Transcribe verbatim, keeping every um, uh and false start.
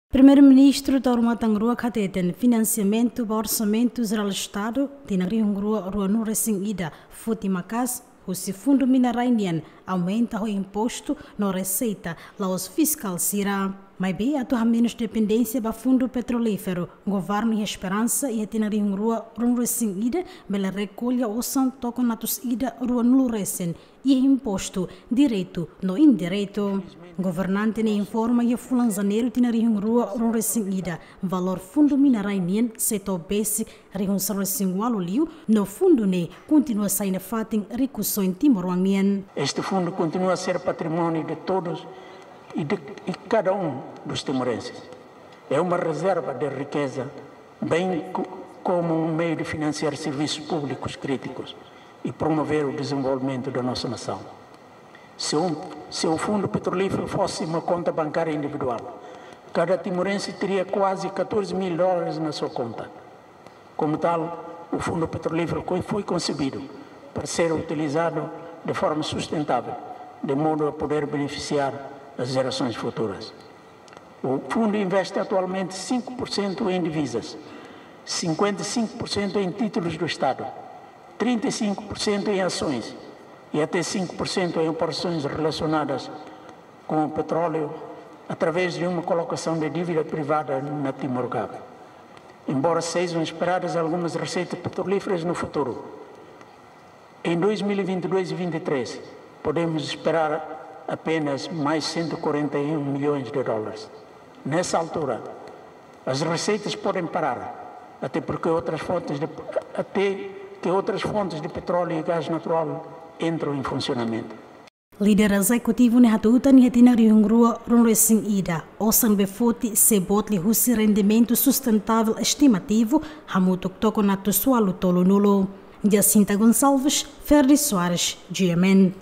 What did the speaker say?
Primeiru-Ministru Taur Matan Ruak hateten finansiamentu ba Orsamentu Jerál Estadu tinan rihun rua ruanulu resin ida foti maka'as husi Fundu Mina-Rai nian, aumenta ho impostu no reseita, la'ós fiskál sira. Maibé atu hamenus dependénsia ba fundu petrolíferu, governu iha esperansa iha tinan rihun rua ruanulu resin ida bele rekolla osan tokon atus ida ruanulu resin iha impostu diretu no indiretu. Governante ne'e informa iha fulan Janeiru tinan rihun rua ruanulu resin ida, valór Fundu Mina-Rai nian sei to'o besik rihun sanulu resin ualu liu, no fundu ne'e kontinua sai nafatin rikusoin timoroan nian. Este fundo continua a ser património de todos e de, e cada um dos timorenses. É uma reserva de riqueza, bem co-, como um meio de financiar serviços públicos críticos e promover o desenvolvimento da nossa nação. Se um, se o fundo petrolífero fosse uma conta bancária individual, cada timorense teria quase catorze mil dólares na sua conta. Como tal, o fundo petrolífero co-, foi concebido para ser utilizado de forma sustentável, de modo a poder beneficiar as gerações futuras. O fundo investe atualmente cinco por cento em divisas, cinquenta e cinco por cento em títulos do Estado, trinta e cinco por cento em ações e até cinco por cento em operações relacionadas com o petróleo, através de uma colocação de dívida privada na Timor Gap. Embora sejam esperadas algumas receitas petrolíferas no futuro, em dois mil e vinte e dois e vinte e três, podemos esperar apenas mais cento e quarenta e um milhões de dólares. Nessa altura, as receitas podem parar, até porque outras fontes de, até que outras fontes de petróleo e gás natural entram em funcionamento. Líder ezekutivu ne'e hatutan iha tinan rihun rua ruanulu resin ida, osan be foti sei boot liuhusi rendimentu sustentável estimativu hamutuk tokon atus ualu tolunulu. Jacinta Gonçalves, Ferdi Soares, G M N.